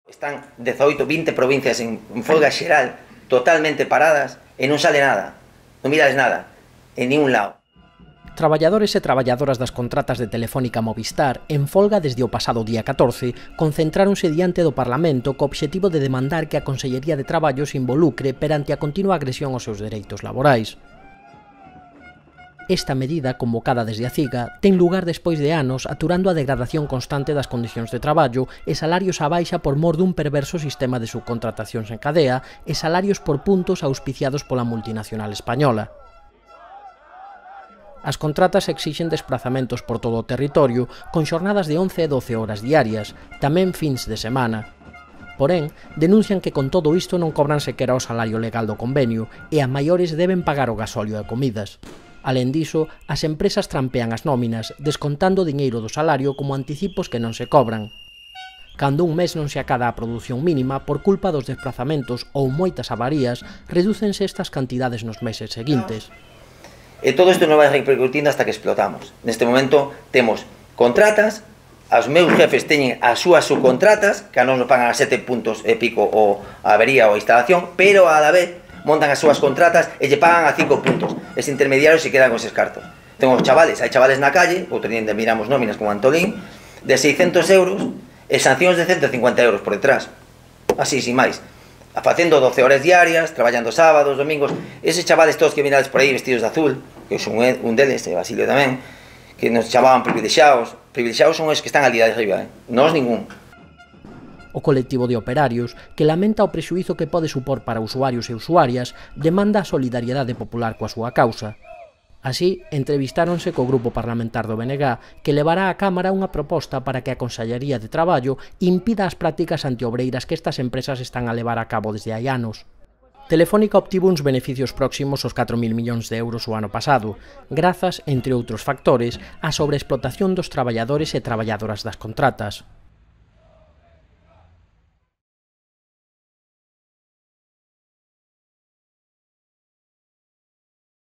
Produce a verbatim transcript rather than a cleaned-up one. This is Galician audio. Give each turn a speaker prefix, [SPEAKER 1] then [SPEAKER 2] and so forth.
[SPEAKER 1] Están dezaoito, vinte provincias en, en folga xeral, totalmente paradas, e non sale nada, non mirades nada, en ningún lado.
[SPEAKER 2] Traballadores e traballadoras das contratas de Telefónica Movistar, en folga desde o pasado día catorce, concentráronse diante do Parlamento co obxectivo de demandar que a Consellería de Traballo se involucre perante a continua agresión aos seus dereitos laborais. Esta medida, convocada desde a CIGA, ten lugar despois de anos aturando a degradación constante das condicións de traballo e salarios á baixa por mor dun perverso sistema de subcontratacións en cadea e salarios por puntos auspiciados pola multinacional española. As contratas exixen desplazamentos por todo o territorio con xornadas de once e doce horas diarias, tamén fins de semana. Porén, denuncian que con todo isto non cobran sequera o salario legal do convenio e a maiores deben pagar o gasóleo e comidas. Alén diso, as empresas trampean as nóminas, descontando o diñeiro do salario como anticipos que non se cobran. Cando un mes non se acada a produción mínima por culpa dos desplazamentos ou moitas avarías, redúcense estas cantidades nos meses seguintes.
[SPEAKER 1] E todo isto non vai repercutindo hasta que explotamos. Neste momento temos contratas, os meus jefes teñen as súas subcontratas, que non nos pagan a sete puntos e pico o a avería ou a instalación, pero a la vez montan as súas contratas e lle pagan a cinco puntos. Ese intermediario se queda con eses cartos. Tengo chavales, hai chavales na calle, outro día miramos nóminas como Antolín, de seiscentos euros e sancións de ciento cincuenta euros por detrás. Así, sin máis. Facendo doce horas diarias, traballando sábados, domingos. Eses chavales todos que mirades por aí vestidos de azul, que eu son un deles, e Basilio tamén, que nos chamaban privilexiados. Privilexiados son os que están ali de arriba, eh? Nós ningún.
[SPEAKER 2] O colectivo de operarios, que lamenta o prexuízo que pode supor para usuarios e usuarias, demanda a solidariedade popular coa súa causa. Así, entrevistáronse co grupo parlamentar do B N G que levará á Cámara unha proposta para que a Consellería de Traballo impida as prácticas antiobreiras que estas empresas están a levar a cabo desde hai anos. Telefónica obtivo uns beneficios próximos aos catro mil millóns de euros o ano pasado, grazas, entre outros factores, á sobreexplotación dos traballadores e traballadoras das contratas.